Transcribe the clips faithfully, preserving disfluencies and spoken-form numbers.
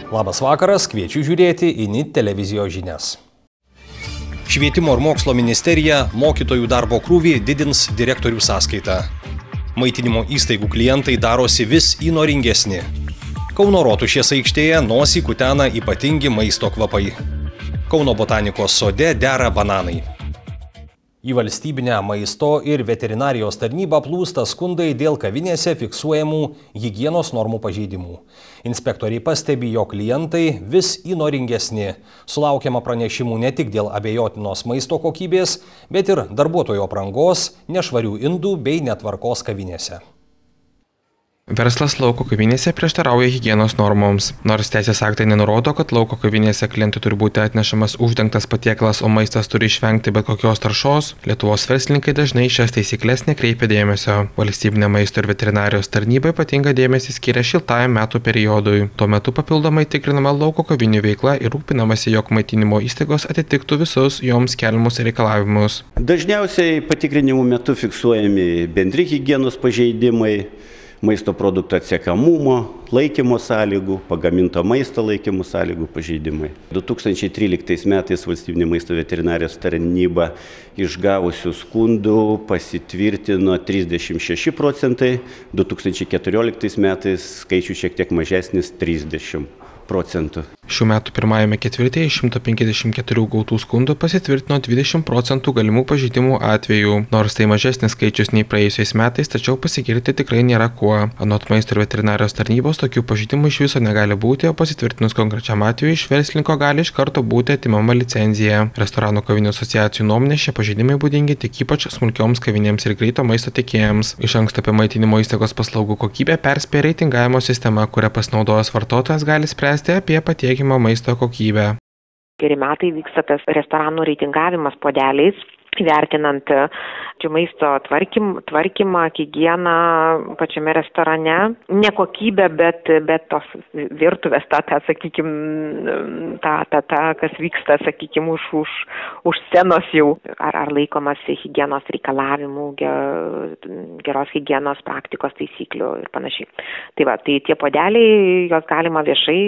Labas vakaras, kviečiu žiūrėti į N I T televizijos žinias. Švietimo ir mokslo ministerija mokytojų darbo krūvį didins direktorių sąskaitą. Maitinimo įstaigų klientai darosi vis įnoringesni. Kauno Rotušės aikštėje nosį kutena ypatingi maisto kvapai. Kauno botanikos sode dera bananai. Į valstybinę maisto ir veterinarijos tarnybą plūsta skundai dėl kavinėse fiksuojamų higienos normų pažeidimų. Inspektoriai pastebi, jog klientai vis įnoringesni. Sulaukiama pranešimų ne tik dėl abejotinos maisto kokybės, bet ir darbuotojo aprangos, nešvarių indų bei netvarkos kavinėse. Verslas lauko kavinėse prieštarauja higienos normoms. Nors teisės aktai nenurodo, kad lauko kavinėse klientui turi būti atnešamas uždengtas patiekalas, o maistas turi išvengti bet kokios taršos, Lietuvos verslininkai dažnai šias taisyklės nekreipia dėmesio. Valstybinė maisto ir veterinarijos tarnyba ypatingą dėmesį skiria šiltajam metų periodui. Tuo metu papildomai tikrinama lauko kavinių veikla ir rūpinamasi, jog maitinimo įstaigos atitiktų visus joms keliamus reikalavimus. Dažniausiai patikrinimų metu fiksuojami bendri higienos pažeidimai, maisto produktų atsiekamumo, laikymo sąlygų, pagaminto maisto laikymo sąlygų pažeidimai. du tūkstančiai tryliktais metais valstybinė maisto veterinarijos tarnyba išgavusių skundų pasitvirtino trisdešimt šeši procentai, du tūkstančiai keturioliktais metais skaičius šiek tiek mažesnis trisdešimt procentų. Šių metų pirmajame ketvirtyje iš šimto penkiasdešimt keturių gautų skundų pasitvirtino dvidešimt procentų galimų pažeidimų atvejų. Nors tai mažesnis skaičius nei praėjusiais metais, tačiau pasigirti tikrai nėra kuo. Anot maisto ir veterinarijos tarnybos tokių pažeidimų iš viso negali būti, o pasitvirtinus konkrečiam atveju iš verslininko gali iš karto būti atimama licenzija. Restoranų kavinių asociacijų nuomonė šie pažeidimai būdingi tik ypač smulkioms kavinėms ir greito maisto tiekėjams. Iš anksto apie maitinimo įstaigos paslaugų kokybę perspėja reitingavimo sistema, kuria pasinaudojęs vartotojas gali spręsti apie patiekimą maisto kokybę. Geri metai vyksta tas restoranų reitingavimas puodeliais, vertinant maisto tvarkym, tvarkymą, higieną pačiame restorane. Ne kokybę, bet, bet tos virtuvės, ta, ta sakykime, ta, ta, ta, kas vyksta, sakykime, už, už, už scenos jau. Ar, ar laikomasi higienos reikalavimų, geros higienos praktikos taisyklių ir panašiai. Tai va, tai tie puodeliai, juos galima viešai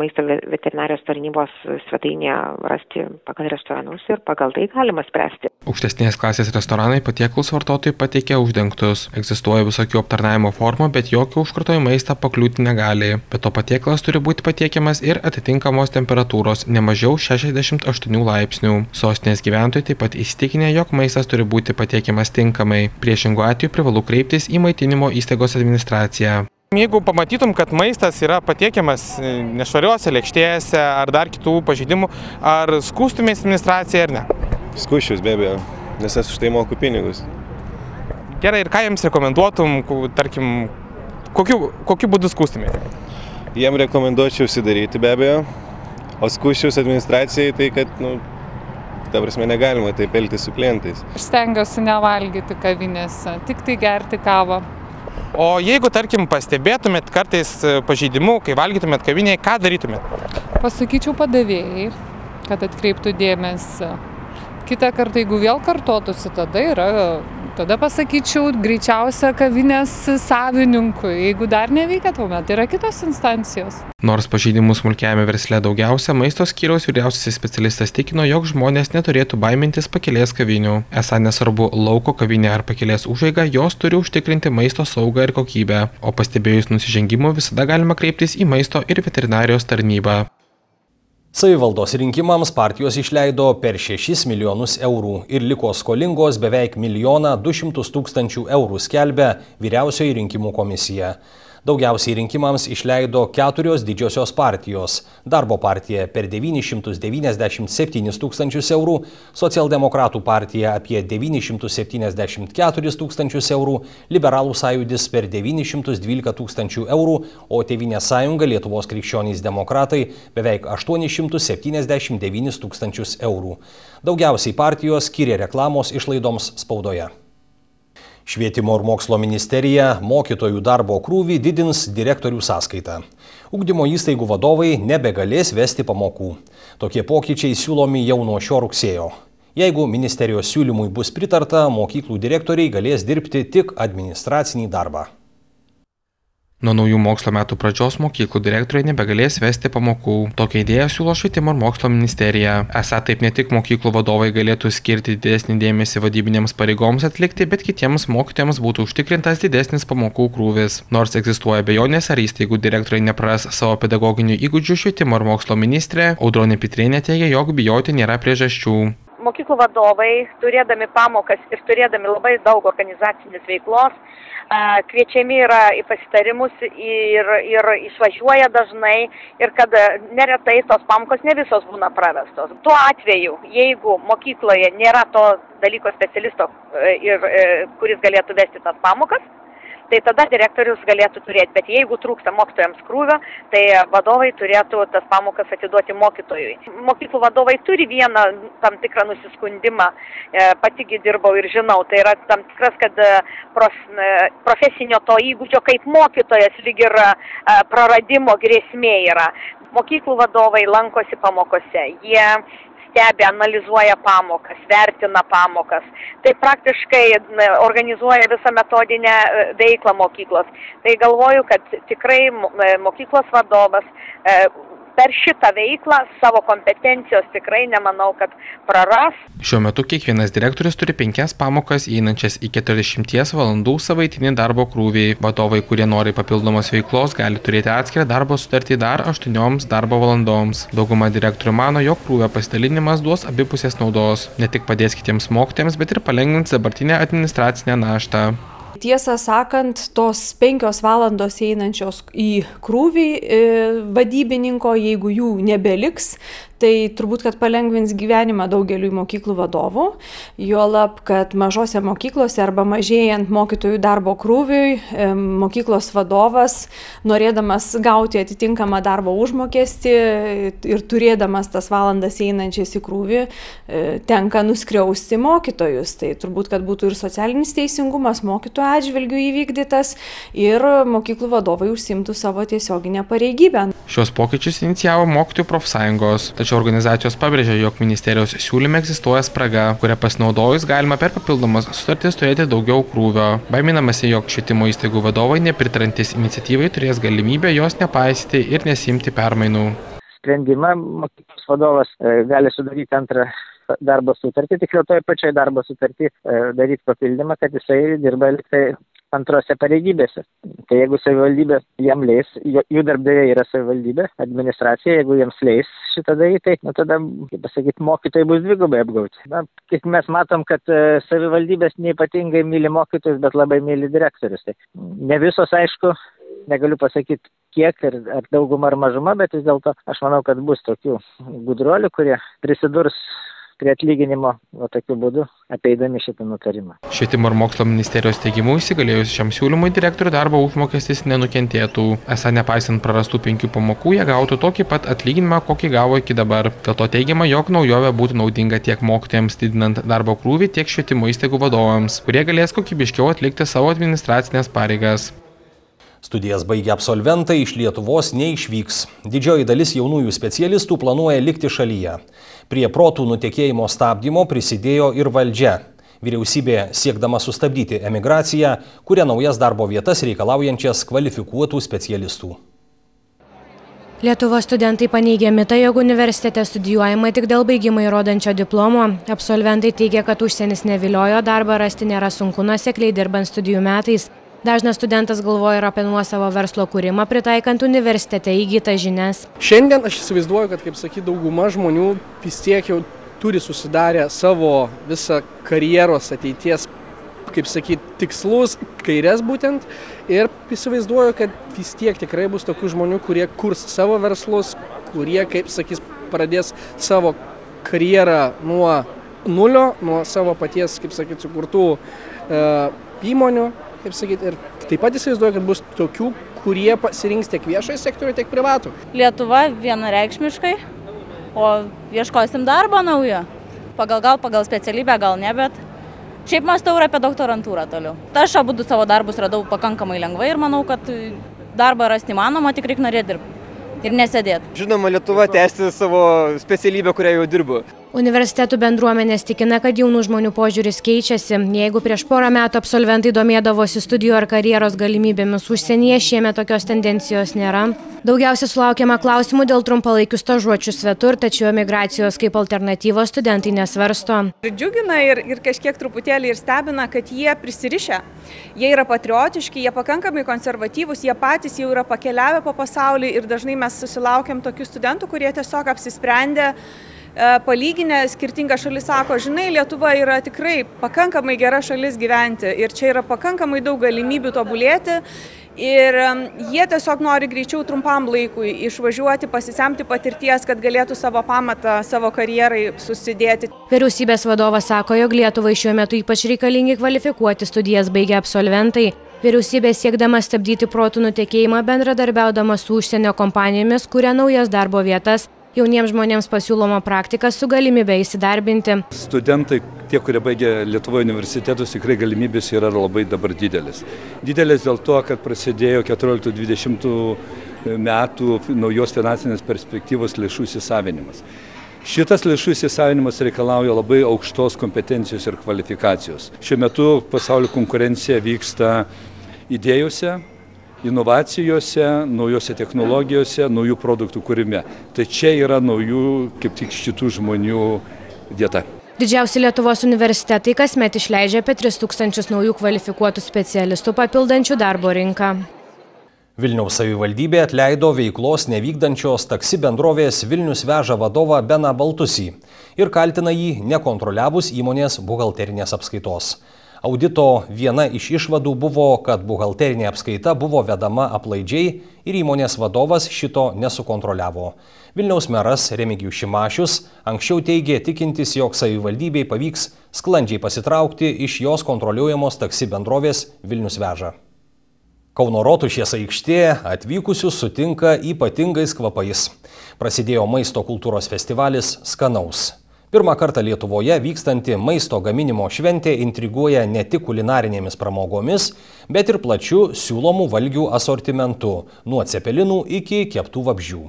maisto veterinarijos tarnybos svetainėje rasti pagal restoranus ir pagal tai galima spręsti. Aukštesnės klasės restoranai patiekalus vartotojai pateikia uždengtus. Egzistuoja visokių aptarnavimo formų, bet jokio užkrato į maistą pakliūti negali. Bet to patiekalas turi būti patiekiamas ir atitinkamos temperatūros, ne mažiau šešiasdešimt aštuonių laipsnių. Sostinės gyventojai taip pat įsitikinę, jog maistas turi būti patiekiamas tinkamai. Priešingu atveju privalu kreiptis į maitinimo įstaigos administraciją. Jeigu pamatytum, kad maistas yra patiekiamas nešvariuose lėkštėse ar dar kitų pažeidimų, ar skųstumės administraciją ar ne? Skųsčius be abejo, nes aš už tai moku pinigus. Gerai, ir ką jiems rekomenduotum, tarkim, kokiu, kokiu būdu skųstumėte? Jiem rekomenduočiau užsidaryti be abejo, o skųsčius administracijai tai, kad, nu, ta prasme, negalima taip elgtis su klientais. Aš stengiuosi nevalgyti kavinėse, tik tai gerti kavą. O jeigu, tarkim, pastebėtumėt kartais pažeidimų, kai valgytumėt kavinėje, ką darytumėt? Pasakyčiau padavėjai, kad atkreiptų dėmesį. Kitą kartą, jeigu vėl kartotųsi, tada yra, tada pasakyčiau greičiausia kavinės savininkui. Jeigu dar neveikia, tuomet yra kitos instancijos. Nors pažeidimų smulkiajame versle daugiausia, maisto skyriaus vyriausiasis specialistas tikino, jog žmonės neturėtų baimintis pakelės kavinių. Esą nesvarbu lauko kavinė ar pakelės užeiga, jos turi užtikrinti maisto saugą ir kokybę. O pastebėjus nusižengimų visada galima kreiptis į maisto ir veterinarijos tarnybą. Savivaldos rinkimams partijos išleido per šešis milijonus eurų ir liko skolingos beveik milijoną du šimtus tūkstančių eurų, skelbia Vyriausioji rinkimų komisija. Daugiausiai rinkimams išleido keturios didžiosios partijos. Darbo partija per devynis šimtus devyniasdešimt septynis tūkstančius eurų, Socialdemokratų partija apie devynis šimtus septyniasdešimt keturis tūkstančius eurų, Liberalų sąjūdis per devynis šimtus dvylika tūkstančių eurų, o Tėvynės sąjunga Lietuvos krikščionys demokratai beveik aštuonis šimtus septyniasdešimt devynis tūkstančius eurų. Daugiausiai partijos skyrė reklamos išlaidoms spaudoje. Švietimo ir mokslo ministerija mokytojų darbo krūvį didins direktorių sąskaitą. Ugdymo įstaigų vadovai nebegalės vesti pamokų. Tokie pokyčiai siūlomi jau nuo šio rugsėjo. Jeigu ministerijos siūlymui bus pritarta, mokyklų direktoriai galės dirbti tik administracinį darbą. Nuo naujų mokslo metų pradžios mokyklų direktoriai nebegalės vesti pamokų. Tokią idėją siūlo Švietimo ir mokslo ministerija. Esą taip ne tik mokyklų vadovai galėtų skirti didesnį dėmesį vadybinėms pareigoms atlikti, bet kitiems mokytojams būtų užtikrintas didesnis pamokų krūvis. Nors egzistuoja abejonės, ar įstaigų direktoriai nepraras savo pedagoginių įgūdžių, Švietimo ir mokslo ministrė Audronė Pitrėnė teigia, jog bijoti nėra priežasčių. Mokyklų vadovai, turėdami pamokas ir turėdami labai daug organizacinės veiklos, kviečiami yra į pasitarimus ir, ir išvažiuoja dažnai ir kad neretai tos pamokos ne visos būna pravestos. Tuo atveju, jeigu mokykloje nėra to dalyko specialisto, ir, kuris galėtų vesti tas pamokas, tai tada direktorius galėtų turėti. Bet jeigu trūksta mokytojams krūvio, tai vadovai turėtų tas pamokas atiduoti mokytojui. Mokyklų vadovai turi vieną tam tikrą nusiskundimą, patigi dirbau ir žinau, tai yra tam tikras, kad prof, profesinio to įgūdžio kaip mokytojas lyg ir praradimo grėsmė yra. Mokyklų vadovai lankosi pamokose, jie stebi, analizuoja pamokas, vertina pamokas. Tai praktiškai organizuoja visą metodinę veiklą mokyklos. Tai galvoju, kad tikrai mokyklos vadovas per šitą veiklą savo kompetencijos tikrai nemanau, kad praras. Šiuo metu kiekvienas direktorius turi penkias pamokas įeinančias į keturiasdešimties valandų savaitinį darbo krūvį. Vadovai, kurie nori papildomos veiklos, gali turėti atskirą darbo sutartį dar aštuonioms darbo valandoms. Dauguma direktorių mano, jog krūvio pasidalinimas duos abipusės naudos. Ne tik padės kitiems mokytojams, bet ir palengvins dabartinę administracinę naštą. Tiesą sakant, tos penkios valandos einančios į krūvį vadybininko, jeigu jų nebeliks, tai turbūt, kad palengvins gyvenimą daugeliui mokyklų vadovų, juolab, kad mažose mokyklose arba mažėjant mokytojų darbo krūviui, mokyklos vadovas, norėdamas gauti atitinkamą darbo užmokestį ir turėdamas tas valandas einančias į krūvį, tenka nuskriausti mokytojus. Tai turbūt, kad būtų ir socialinis teisingumas mokytojų atžvilgių įvykdytas ir mokyklų vadovai užsimtų savo tiesioginę pareigybę. Šios pokyčius inicijavo mokytojų profsąjungos, tačiau organizacijos pabrėžia, jog ministerijos siūlyme egzistuoja spraga, kurią pasinaudojus galima per papildomas sutartis turėti daugiau krūvio. Baiminamasi, jog švietimo įstaigų vadovai nepritarantis iniciatyvai turės galimybę jos nepaisyti ir nesimti permainų. Sprendimą mokyklos vadovas gali sudaryti antrą darbo sutartį, tikriau toje pačioje darbo sutartį daryti papildymą, kad jisai dirba liktai antrose pareigybėse. Tai jeigu savivaldybė jam leis, jų darbdaviai yra savivaldybė, administracija, jeigu jiems leis šitą daryti, tai nu, tada, kaip pasakyti, mokytojai bus dvigubai apgauti. Na, kaip mes matom, kad savivaldybės neypatingai myli mokytojus, bet labai myli direktorius. Tai ne visos, aišku, negaliu pasakyti kiek ir ar dauguma ar mažuma, bet vis dėlto aš manau, kad bus tokių gudruolių, kurie prisidurs prie atlyginimo, o tokiu būdu apeidami šitą nutarimą. Švietimo ir mokslo ministerijos teigimu įsigalėjus šiam siūlymui direktorių darbo užmokestis nenukentėtų. Esą nepaisant prarastų penkių pamokų, jie gautų tokį pat atlyginimą, kokį gavo iki dabar. Dėl to teigiama, jog naujovė būtų naudinga tiek mokytojams didinant darbo krūvį, tiek švietimo įstaigų vadovams, kurie galės kokybiškiau atlikti savo administracinės pareigas. Studijas baigę absolventai iš Lietuvos neišvyks. Didžioji dalis jaunųjų specialistų planuoja likti šalyje. Prie protų nutekėjimo stabdymo prisidėjo ir valdžia. Vyriausybė, siekdama sustabdyti emigraciją, kuria naujas darbo vietas reikalaujančias kvalifikuotų specialistų. Lietuvos studentai paneigia mitą, jog universitete studijuojama tik dėl baigimo įrodančio diplomo. Absolventai teigia, kad užsienis neviliojo, darbą rasti nėra sunku nuosekliai dirbant studijų metais. Dažnas studentas galvoja ir apie nuosavo verslo kūrimą, pritaikant universitete įgytas žinias. Šiandien aš įsivaizduoju, kad, kaip sakyti, dauguma žmonių vis tiek jau turi susidarę savo visą karjeros ateities, kaip sakyti, tikslus, kairės būtent. Ir įsivaizduoju, kad vis tiek tikrai bus tokių žmonių, kurie kurs savo verslus, kurie, kaip sakys, pradės savo karjerą nuo nulio, nuo savo paties, kaip sakyti, sukurtų e, įmonių. Kaip sakyti, ir taip pat įsivaizduoju, kad bus tokių, kurie pasirinks tiek viešojo sektorių, tiek privatų. Lietuva vienareikšmiškai, o ieškosim darbo naujo. Pagal gal, pagal specialybę gal ne, bet šiaip mąstau ir apie doktorantūrą toliau. Aš abudu savo darbus radau pakankamai lengvai ir manau, kad darbą rasti įmanoma, tik reikia norėti dirbti ir nesėdėti. Žinoma, Lietuva tęsti savo specialybę, kurią jau dirbu. Universitetų bendruomenės tikina, kad jaunų žmonių požiūris keičiasi. Jeigu prieš porą metų absolventai domėdavosi studijų ar karjeros galimybėmis užsienyje, šiemet tokios tendencijos nėra. Daugiausia sulaukiama klausimų dėl trumpalaikių stažuočių svetur, tačiau emigracijos kaip alternatyvos studentai nesvarsto. Džiugina ir, ir kažkiek truputėlį ir stebina, kad jie prisirišę. Jie yra patriotiški, jie pakankamai konservatyvūs, jie patys jau yra pakeliavę po pasaulį ir dažnai mes susilaukiam tokių studentų, kurie tiesiog apsisprendė, palyginę skirtingą šalis, sako, žinai, Lietuva yra tikrai pakankamai gera šalis gyventi ir čia yra pakankamai daug galimybių tobulėti ir jie tiesiog nori greičiau trumpam laikui išvažiuoti, pasisemti patirties, kad galėtų savo pamatą, savo karjerai susidėti. Vyriausybės vadovas sako, jog Lietuvai šiuo metu ypač reikalingi kvalifikuoti studijas baigę absolventai. Vyriausybė siekdama stabdyti protų nutekėjimą bendradarbiaudama su užsienio kompanijomis kuria naujas darbo vietas. Jauniems žmonėms pasiūloma praktika su galimybė įsidarbinti. Studentai, tie, kurie baigia Lietuvoje universitetus, tikrai galimybės yra labai dabar didelis. Didelis dėl to, kad prasidėjo keturioliktų dvidešimtų metų naujos finansinės perspektyvos lėšų įsisavinimas. Šitas lėšų įsisavinimas reikalauja labai aukštos kompetencijos ir kvalifikacijos. Šiuo metu pasaulio konkurencija vyksta idėjose, inovacijose, naujose technologijose, naujų produktų kūrime. Tai čia yra naujų, kaip tik šitų žmonių vieta. Didžiausi Lietuvos universitetai kasmet išleidžia apie tris tūkstančius naujų kvalifikuotų specialistų papildančių darbo rinką. Vilniaus savivaldybė atleido veiklos nevykdančios taksi bendrovės Vilnius veža vadovą Beną Baltusį ir kaltina jį nekontroliavus įmonės buhalterinės apskaitos. Audito viena iš išvadų buvo, kad buhalterinė apskaita buvo vedama aplaidžiai ir įmonės vadovas šito nesukontroliavo. Vilniaus meras Remigijus Šimašius anksčiau teigė tikintis, jog savivaldybei pavyks sklandžiai pasitraukti iš jos kontroliuojamos taksi bendrovės Vilnius veža. Kauno Rotušės aikštė atvykusius sutinka ypatingais kvapais. Prasidėjo maisto kultūros festivalis Skanaus. Pirmą kartą Lietuvoje vykstanti maisto gaminimo šventė intriguoja ne tik kulinarinėmis pramogomis, bet ir plačiu siūlomų valgių asortimentu, nuo cepelinų iki keptų vabzdžių.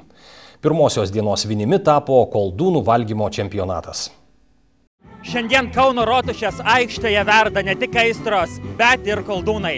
Pirmosios dienos vinimi tapo koldūnų valgymo čempionatas. Šiandien Kauno Rotušės aikštėje verda ne tik aistros, bet ir koldūnai.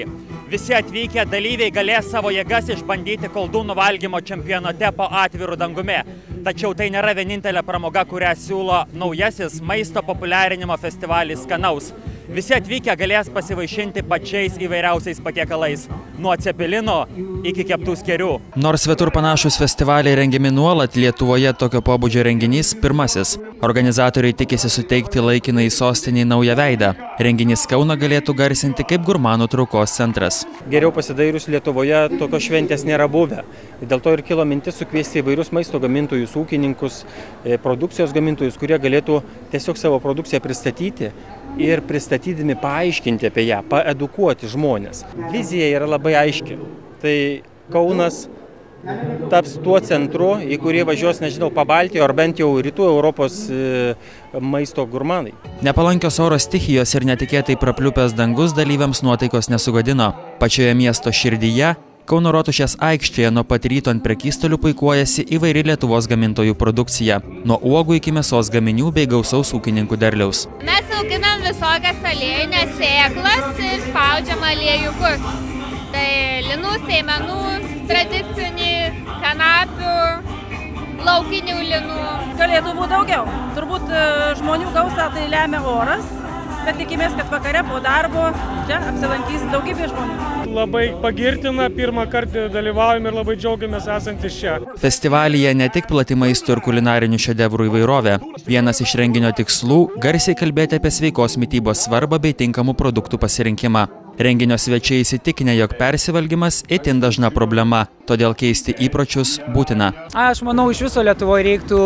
Visi atvykę dalyviai galės savo jėgas išbandyti koldūnų valgymo čempionate po atviru dangumi. Tačiau tai nėra vienintelė pramoga, kurią siūlo naujasis maisto populiarinimo festivalis Skanaus. Visi atvykę galės pasivaišinti pačiais įvairiausiais patiekalais, nuo cepelino iki keptų skėrių. Nors svetur panašus festivaliai rengiami nuolat, Lietuvoje tokio pobūdžio renginys pirmasis. Organizatoriai tikisi suteikti laikinai sostiniai naują veidą. Renginys Kauną galėtų garsinti kaip gurmanų traukos centras. Geriau pasidairius Lietuvoje tokios šventės nėra buvę. Dėl to ir kilo mintis sukviesti įvairius maisto gamintojus, ūkininkus, produkcijos gamintojus, kurie galėtų tiesiog savo produkciją pristatyti ir pristatydami paaiškinti apie ją, paedukuoti žmonės. Vizija yra labai aiški. Tai Kaunas taps tuo centru, į kurį važiuos, nežinau, Pabaltijo ar bent jau rytų Europos maisto gurmanai. Nepalankios oro stichijos ir netikėtai prapliupęs dangus dalyviams nuotaikos nesugadino. Pačioje miesto širdyje, Kauno Rotušės aikštėje nuo pat ryto ant prekystalių puikuojasi įvairi Lietuvos gamintojų produkcija, nuo uogų iki mėsos gaminių bei gausaus ūkininkų derliaus. Mes auginam visokias aliejinės sėklas ir spaudžiam aliejukus. Tai linų, sėmenų, tradicinių, kanapių, laukinių linų. Galėtų būti daugiau. Turbūt žmonių gausą tai lemia oras, bet tikimės, kad vakare po darbo čia apsilankys daugybė žmonių. Labai pagirtina, pirmą kartą dalyvaujame ir labai džiaugiamės esantis čia. Festivalyje ne tik plati maisto ir kulinarinių šedevrų įvairovė. Vienas iš renginio tikslų – garsiai kalbėti apie sveikos mitybos svarbą bei tinkamų produktų pasirinkimą. Renginio svečiai įsitikinę, jog persivalgymas itin dažna problema, todėl keisti įpročius būtina. Aš manau, iš viso Lietuvoje reiktų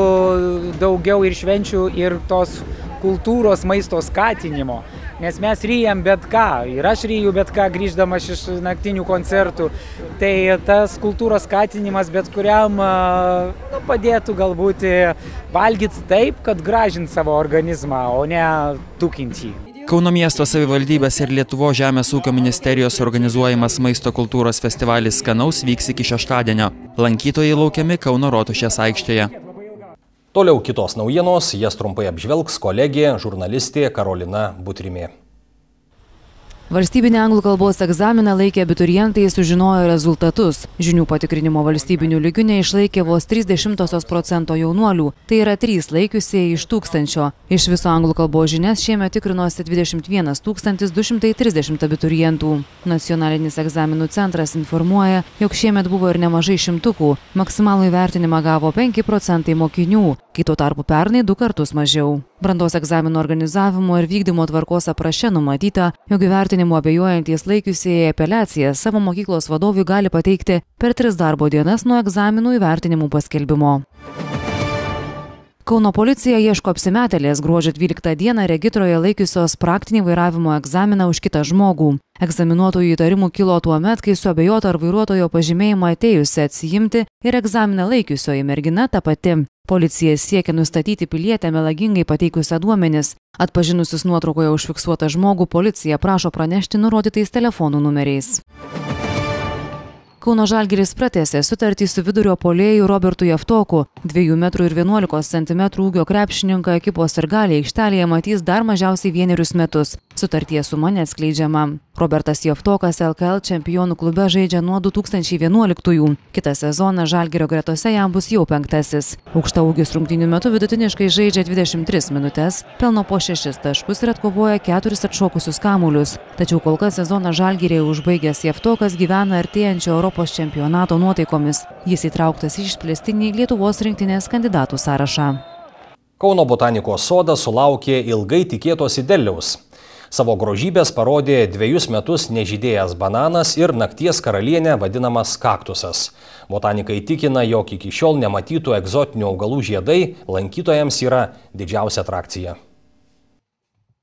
daugiau ir švenčių, ir tos kultūros maisto skatinimo, nes mes ryjam bet ką, ir aš ryju bet ką grįždamas iš naktinių koncertų. Tai tas kultūros skatinimas bet kuriam nu, padėtų galbūt valgyti taip, kad gražint savo organizmą, o ne tukinti. Kauno miesto savivaldybės ir Lietuvos žemės ūkio ministerijos organizuojamas maisto kultūros festivalis Skanaus vyks iki šeštadienio. Lankytojai laukiami Kauno Rotušės aikštėje. Toliau kitos naujienos, jas trumpai apžvelgs kolegė, žurnalistė Karolina Butrimė. Valstybinį anglų kalbos egzaminą laikė abiturientai sužinojo rezultatus. Žinių patikrinimo valstybinių lygių neišlaikė vos trys dešimtosios procento jaunuolių, tai yra trys laikiusieji iš tūkstančio. Iš viso anglų kalbos žinias šiemet tikrinosi dvidešimt vienas tūkstantis du šimtai trisdešimt abiturientų. Nacionalinis egzaminų centras informuoja, jog šiemet buvo ir nemažai šimtukų. Maksimalų įvertinimą gavo penki procentai mokinių, kai tuo tarpu pernai du kartus mažiau. Brandos egzaminų organizavimo ir vykdymo tvarkos apraše numatyta, jog įvertinimu abejojantys laikiusieji apeliaciją savo mokyklos vadovui gali pateikti per tris darbo dienas nuo egzaminų įvertinimų paskelbimo. Kauno policija ieško apsimetėlės gruodžio dvyliktą dieną regitroje laikiusios praktinį vairavimo egzaminą už kitą žmogų. Egzaminuotojų įtarimų kilo tuo met, kai suabejota ar vairuotojo pažymėjimą atėjusi atsiimti ir egzaminą laikiusioji mergina ta pati. Policija siekia nustatyti pilietę melagingai pateikusią duomenis. Atpažinusius nuotraukoje užfiksuotą žmogų, policija prašo pranešti nurodytais telefonų numeriais. Kauno Žalgiris pratęsė sutartį su vidurio puolėju Robertu Javtoku. dviejų metrų ir vienuolikos centimetrų ūgio krepšininką ekipos sirgaliai aikštelėje matys dar mažiausiai vienerius metus. Sutarties suma neatskleidžiama. Robertas Javtokas L K L čempionų klube žaidžia nuo du tūkstančiai vienuoliktųjų. Kitą sezoną Žalgirio gretose jam bus jau penktasis. Aukštaūgis rungtynių metu vidutiniškai žaidžia dvidešimt tris minutes, pelno po šešis taškus ir atkovoja keturis atšokusius kamuolius. Tačiau kol kas sezoną Žalgiryje užbaigęs Javtokas gyvena artėjančio Europos čempionato nuotaikomis. Jis įtrauktas į išplėstinį Lietuvos rinktinės kandidatų sąrašą. Kauno botanikos sodas sulaukė ilgai tikėtos derliaus. Savo grožybės parodė dviejus metus nežydėjęs bananas ir nakties karalienė vadinamas kaktusas. Botanikai tikina, jog iki šiol nematytų egzotinių augalų žiedai lankytojams yra didžiausia atrakcija.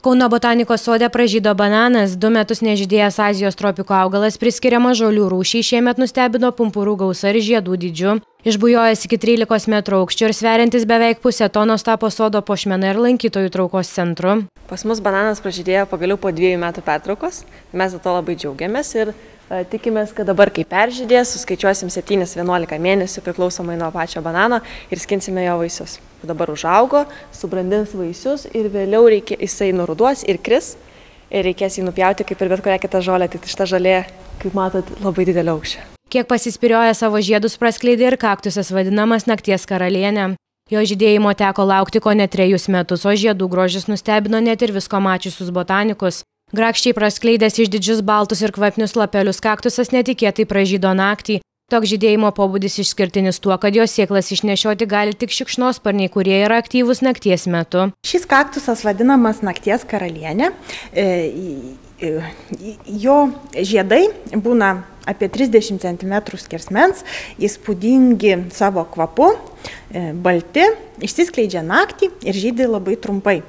Kauno botanikos sode pražydo bananas, du metus nežydėjęs Azijos tropiko augalas priskiriamas žolių rūšiai, šiemet nustebino pumpurų gausa ir žiedų dydžiu. Išbujojęs iki trylikos metrų aukščio ir sveriantis beveik pusę tonos tapo sodo puošmena ir lankytojų traukos centru. Pas mus bananas pražydėjo pagaliau po dviejų metų pertraukos, mes dėl to labai džiaugiamės ir e, tikimės, kad dabar kai peržydės, suskaičiuosim septynis vienuolika mėnesių priklausomai nuo pačio banano ir skinsime jo vaisius. Dabar užaugo, subrandins vaisius ir vėliau reikia, jisai nuruduos ir kris ir reikės jį nupjauti kaip ir bet kurią kitą žolę, tai šita žolė, kaip matot, labai didelio aukščio. Kiek pasispirioja savo žiedus praskleidė ir kaktusas vadinamas nakties karalienė. Jo žydėjimo teko laukti ko ne trejus metus, o žiedų grožis nustebino net ir visko mačiusius botanikus. Grakščiai praskleidęs išdidžius baltus ir kvapnius lapelius kaktusas netikėtai pražydo naktį. Toks žydėjimo pobūdis išskirtinis tuo, kad jos sėklas išnešioti gali tik šikšnosparniai, kurie yra aktyvūs nakties metu. Šis kaktusas vadinamas nakties karalienė. Jo žiedai būna apie trisdešimt centimetrų skersmens, įspūdingi savo kvapu, balti, išsiskleidžia naktį ir žydi labai trumpai.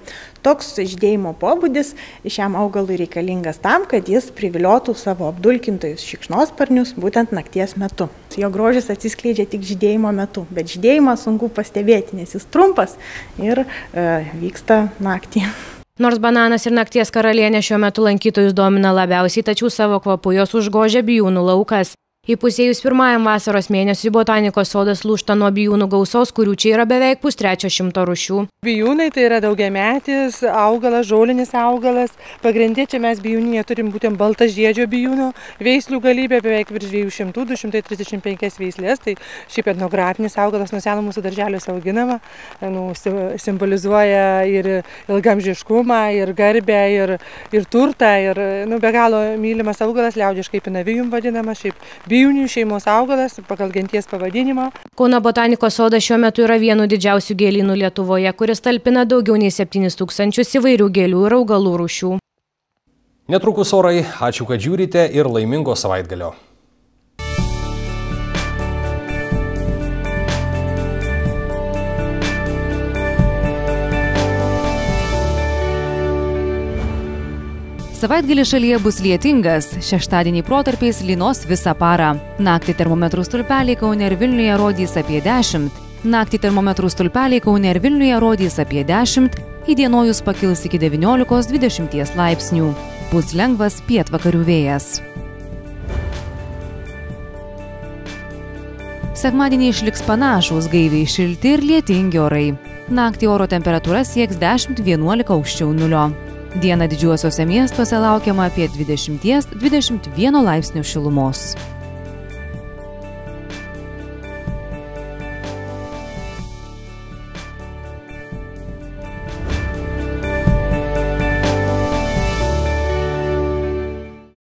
Toks žydėjimo pobūdis šiam augalui reikalingas tam, kad jis priviliotų savo apdulkintojus šikšnosparnius būtent nakties metu. Jo grožis atsiskleidžia tik žydėjimo metu, bet žydėjimą sunku pastebėti, nes jis trumpas ir e, vyksta naktį. Nors bananas ir nakties karalienė šiuo metu lankytojus domina labiausiai, tačiau savo kvapu jos užgožia bijūnų laukas. Įpusėjus pirmajam vasaros mėnesiui botanikos sodas lūžta nuo bijūnų gausos, kurių čia yra beveik pustrečio šimto rūšių. Bijūnai tai yra daugiametis augalas, žolinis augalas. Pagrindė čia mes bijūninėje turim būtent baltažiedžio bijūno veislių galybę, beveik virš dviejų šimtų, du šimtai trisdešimt penkias veislės. Tai šiaip etnografinis augalas nuo seno mūsų darželiuose auginama, nu, simbolizuoja ir ilgamžiškumą, ir garbę, ir, ir turtą, ir nu, be galo mylimas augalas, liaudiškai pinavijum vadinamas, šiaip bijūnių šeimos augalas pagal genties pavadinimą. Kauno botanikos sodas šiuo metu yra vienu didžiausių gėlynų Lietuvoje, kuris talpina daugiau nei septynis tūkstančius įvairių gėlių ir augalų rūšių. Netrukus orai, ačiū, kad žiūrite ir laimingo savaitgalio. Savaitgalį šalyje bus lietingas, šeštadienį protarpiais lynos visą parą. Naktį termometrų stulpeliai Kaune ir Vilniuje rodys apie dešimt. Naktį termometrų stulpeliai Kaune ir Vilniuje rodys apie dešimt, įdienojus pakils iki devyniolikos dvidešimt laipsnių. Bus lengvas pietvakarių vėjas. Sekmadienį išliks panašūs, gaiviai šilti ir lietingi orai. Naktį oro temperatūra sieks dešimt vienuolika aukščiau nulio. Dieną didžiuosiuose miestuose laukiama apie dvidešimt dvidešimt vieną laipsnių šilumos.